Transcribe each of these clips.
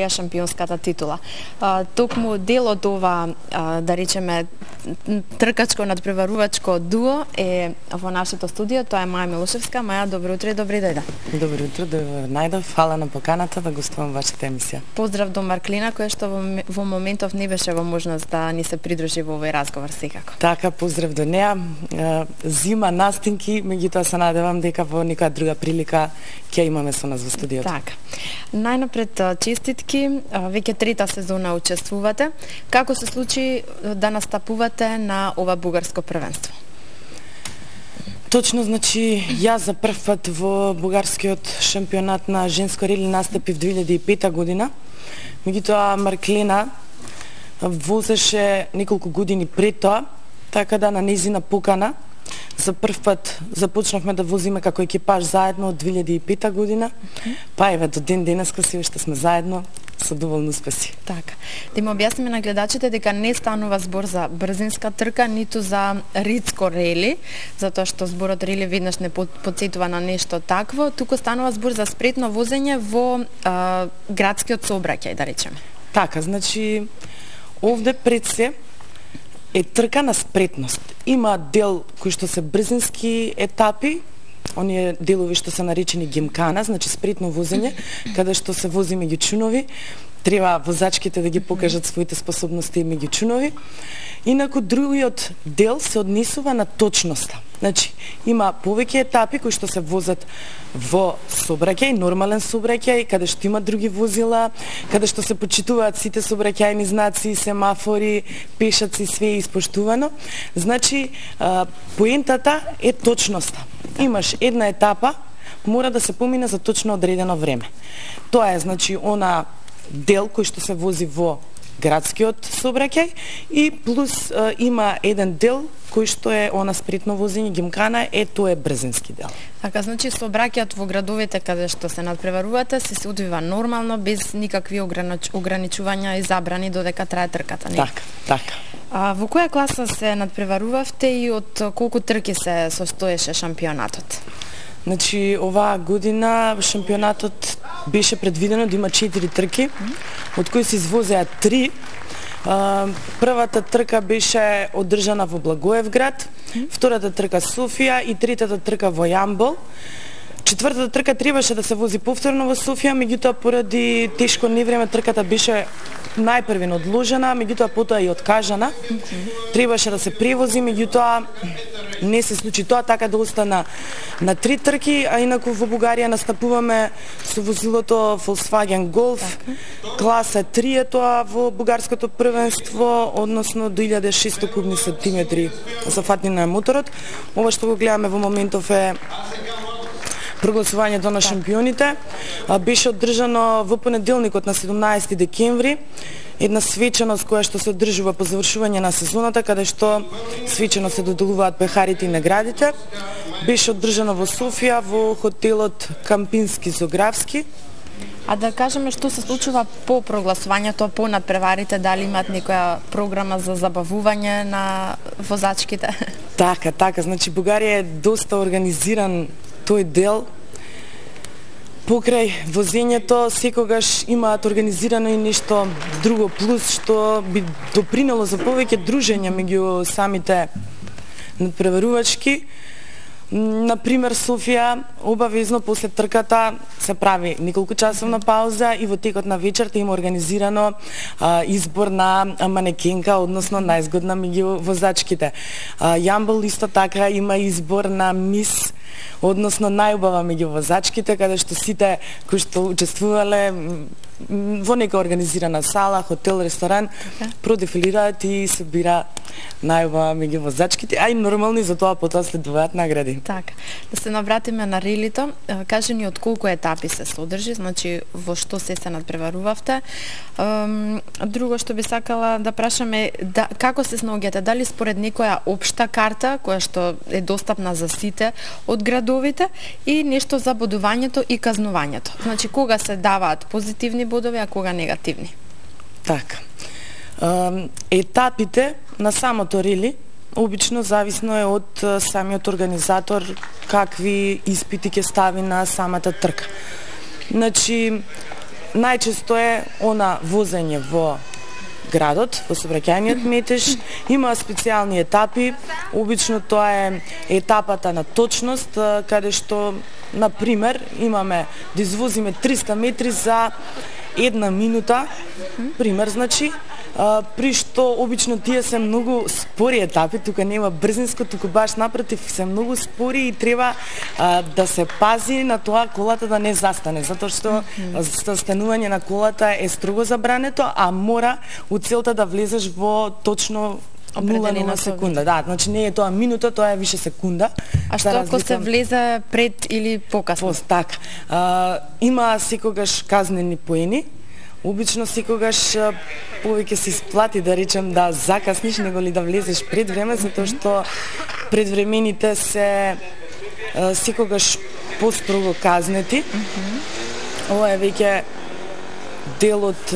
освоја шампионската титула. Токму дел од ова, да речеме, тркачко надпреварувачко дуо е во нашето студио, тоа е Маја Милошевска. Маја, добро утро и добри дојде. Добро утро, најдов, фала на поканата да гостувам вашата емисија. Поздрав до Марклина, која што во моментов не беше во можност да ни се придружи во овој разговор секако. Така, поздрав до неа. Зима настинки, меѓутоа се надевам дека во некоја друга прилика ќе имаме со нас во студиото. Така. Најнапред честитки, веќе трета сезона учествувате. Како се случи да настапувате на ова бугарско првенство? Точно, значи, јас за прв пат во бугарскиот шампионат на женско рели настапив 2005 година. Меѓутоа Марклена возеше неколку години пред тоа, така да на нејзина покана за прв пат започнавме да возиме како екипаж заедно од 2005 година. Па еве до ден денеска се уште сме заедно со доволни успеси. Така. Да им објасниме на гледачите дека не станува збор за брзинска трка, ниту за ридско рели, затоа што зборот рели веднаш не потсетува на нешто такво, туку станува збор за спретно возење во градскиот сообраќај, да речеме. Така, значи овде пред се е трка на спретност. Има дел кои што се брзински етапи, оние делови што се наречени гимкана, значи спретно возење, каде што се вози меѓу чунови, треба возачките да ги покажат своите способности меѓу чунови. Инаку другиот дел се однесува на точноста. Значи, има повеќе етапи кои што се возат во сообраќај, нормален сообраќај, каде што има други возила, каде што се почитуваат сите сообраќајни знаци, семафори, пешаци, све е испоштувано. Значи, поентата е точноста. Имаш една етапа, мора да се помине за точно одредено време. Тоа е, значи, она дел кој што се вози во градскиот сообраќај и плюс има еден дел кој што е она спретно возење гимкана, тоа е брзински дел. Така, значи сообраќајот во градовите каде што се надпреварувате се одвива нормално без никакви ограничувања и забрани додека трае трката, не? Така, така. Во која класа се надпреварувавте и од колку трки се состоеше шампионатот? Значи, оваа година шампионатот беше предвидено да има 4 трки, од кои се извозеа 3. Првата трка беше одржана во Благоевград, втората трка Софија и третата трка во Јамбол. Четвртата трка требаше да се вози повторно во Софија, меѓутоа поради тешко невреме трката беше најпрвен одложена, меѓутоа потоа и откажана. Требаше да се превози, меѓутоа не се случи тоа, така да остана на 3 трки, а инаку во Бугарија настапуваме со возилото Volkswagen Golf, класа 3 е тоа во бугарското првенство, односно до 1600 кубни сантиметри за фатнина на моторот. Ова што го гледаме во моментов е прогласувањето на шампионите. Беше одржано во понеделникот на 17 декември една свеченост која што се одржува по завршување на сезоната, каде што свечено се доделуваат пехарите и наградите. Беше одржано во Софија во хотелот Кампински Зографски. А да кажеме што се случува по прогласувањето, по надпреварите, дали имаат некоја програма за забавување на возачките? Така, значи Бугарија е доста организиран тој дел. Покрај возењето секогаш имаат организирано и нешто друго плюс што би допринело за повеќе дружење меѓу самите надпреварувачки. Например, Софија обавезно после трката се прави неколку часовна пауза и во текот на вечерта има организирано избор на манекенка, односно најзгодна меѓу возачките. Јамбол исто така има избор на мис, односно најубава меѓу возачките, каде што сите кои што учествувале во нека организирана сала, хотел, ресторан, продефилираат и се бира најубава меѓу возачките, а и нормално и за тоа потоа следуваат награди. Така. Да се навратиме на релито, кажи ни од колку етапи се содржи, значи во што се надпреварувавте. Друго што би сакала да прашаме, како се снаоѓате, дали според некоја општа карта која што е достапна за сите од градовите и нешто за бодувањето и казнувањето. Значи кога се даваат позитивни бодови, а кога негативни? Така. Етапите на самото рели обично зависно е од самиот организатор какви испити ќе стави на самата трка. Значи, најчесто е она возење во градот, во сообраќајниот метеж, има специјални етапи, обично тоа е етапата на точност, каде што, на пример, имаме да извозиме 300 метри за 1 минута, пример, значи, при што обично тие се многу спори етапи, тука нема брзинско, туку баш напротив се многу спори и треба да се пази на тоа колата да не застане, затоа што застанување на колата е строго забрането, а мора у целта да влезеш во точно 0,0 секунда. Да, значи не е тоа минута, тоа е више секунда. А што ако се влезе пред или покасно? Така. Има секогаш казнени поени. Обично секогаш повеќе се исплати да речем да закасниш него ли да влезеш пред време, затоа што предвремените се секогаш построго казнети. Ова е веќе дел од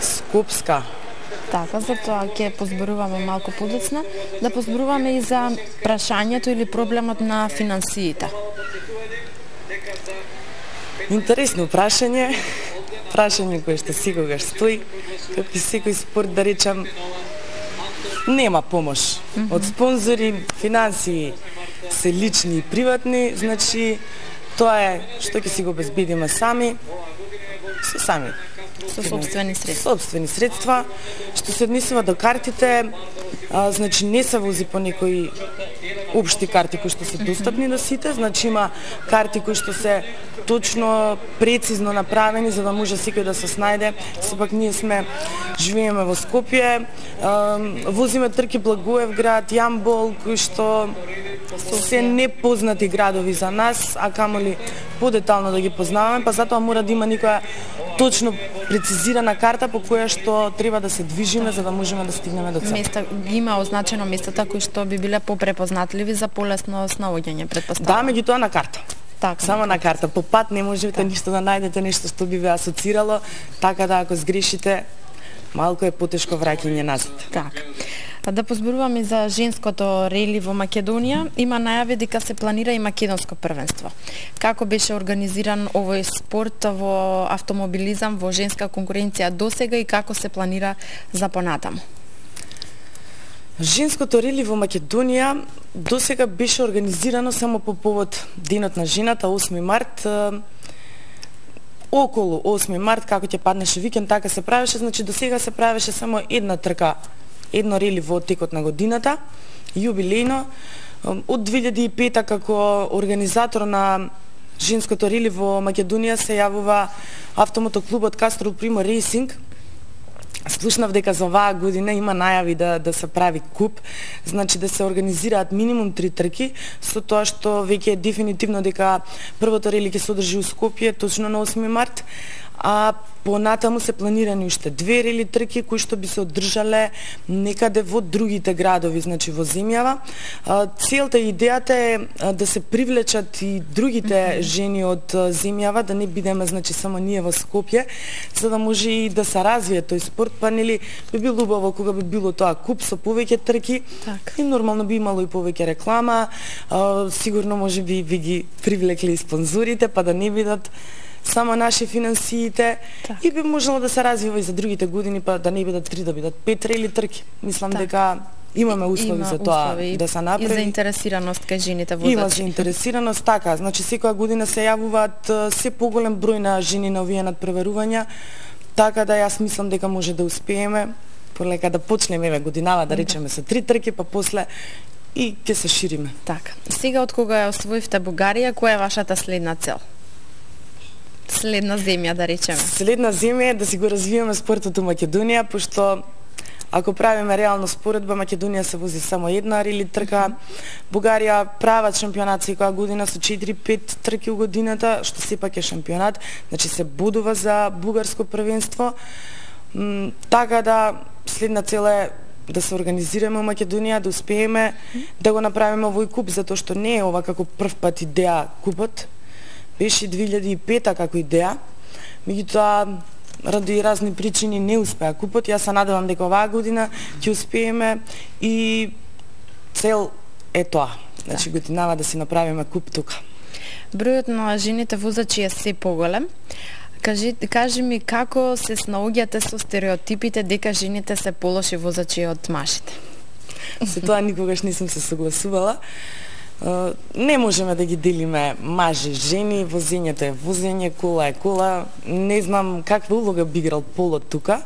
Скопска. Така, затоа ќе позборуваме малку подоцна, да позборуваме и за прашањето или проблемот на финансиите. Интересно прашање. Прашање кое што секогаш стои, како и секој спорт, да речам, нема помош од спонзори, финансии се лични и приватни, значи тоа е што ќе си го обезбедиме сами, со сопствени средства. Сопствени средства, што се однесува до картите, значи не се вози по некои општи карти кои што се достапни до сите, значи има карти кои што се точно, прецизно направени за да може секој да се снајде. Сепак ние живееме во Скопје, возиме трки Благоевград, Јамбол, кои што се непознати градови за нас, а камоли подетално да ги познаваме, па затоа мора да има некоја точно прецизирана карта по која што треба да се движиме за да можеме да стигнеме до цел. Има означено местата кои што би биле попрепознатливи за полесно снаоѓање, Да, претпоставувам. меѓутоа на карта. Така, само на карта, по пат не можете ништо да најдете, нешто што би ве асоцирало, така да ако сгрешите, малку е потешко враќање назад. Така. Да позборуваме за женското рели во Македонија, има најави дека се планира и македонско првенство. Како беше организиран овој спорт во автомобилизам во женска конкуренција досега и како се планира за понатаму? Женското рели во Македонија досега беше организирано само по повод Денот на жената, 8 март. Околу 8 март, како ќе паднеше викенд, така се правеше, значи досега се правеше само една трка, едно рели во текот на годината, јубилејно. Од 2005 како организатор на женското рели во Македонија се јавува автомотоклубот Кастрол Примо Рейсинг. Слушнав дека за оваа година има најави да се прави куп, значи да се организираат минимум 3 трки, со тоа што веќе е дефинитивно дека првото рели ќе се одржи у Скопје точно на 8 март, а понатаму се планирани уште 2 рели трки кои што би се одржале некаде во другите градови, значи во земјава. Целта и идејата е да се привлечат и другите жени од земјава, да не бидеме значи само ние во Скопје, за да може и да се развие тој спорт, па нели би било убаво кога би било тоа куп со повеќе трки и нормално би имало и повеќе реклама, сигурно може би ги привлекли и спонзорите, па да не бидат само наши финансиите и би можело да се развива и за другите години, па да не бидат 3, да бидат 5 рели трки. Мислам дека имаме услови за тоа да се направи. И заинтересираност кај жените возачи. Има заинтересираност, така. Значи секоја година се јавуваат се поголем број на жени на овие надпреварувања, така да јас мислам дека може да успееме полека да почнеме годинава, да речеме со 3 трки, па после и ќе се шириме. Така. Сега од кога ја освоивте Бугарија, која е вашата следна цел? Следна земја, да речеме. Следна земја е да си го развиеме спортот у Македонија, пошто ако правиме реално споредба, Македонија се вози само една рели трка, Бугарија прават шампионат секоја година со 4-5 трки у годината, што сепак е шампионат, значи се бодува за бугарско првенство. Така да следна цел е да се организираме у Македонија, да успееме да го направиме овој куп, затоа што не е ова како прв пат идеја купот. Беше 2005 како идеја, меѓутоа ради разни причини не успеа купот. Јас се надевам дека оваа година ќе успееме и цел е тоа. Значи годинава да си направиме куп тука. Бројот на жените возачи е се поголем. Кажи ми како се снаоѓате со стереотипите дека жените се полоши возачи од мажите? Со тоа никогаш не сум се согласувала. Не можеме да ги делиме мажи, жени, возењето е возење, кола е кола. Не знам каква улога би играл полот тука,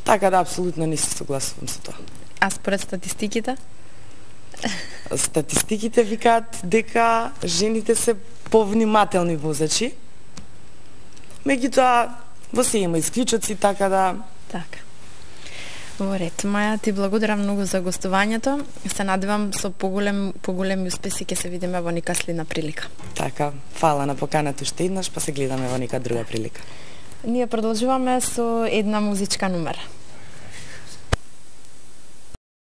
така да апсолутно не се согласувам со тоа. А според статистиките? Статистиките викаат дека жените се повнимателни возачи. Меѓутоа, во се има исклучоци, така да... Така. Во ред. Маја, ти благодарам многу за гостувањето. Се надевам со поголеми успеси ќе се видиме во нека следна прилика. Така, фала на поканата уште еднаш, па се гледаме во нека друга прилика. Ние продолжуваме со една музичка номера.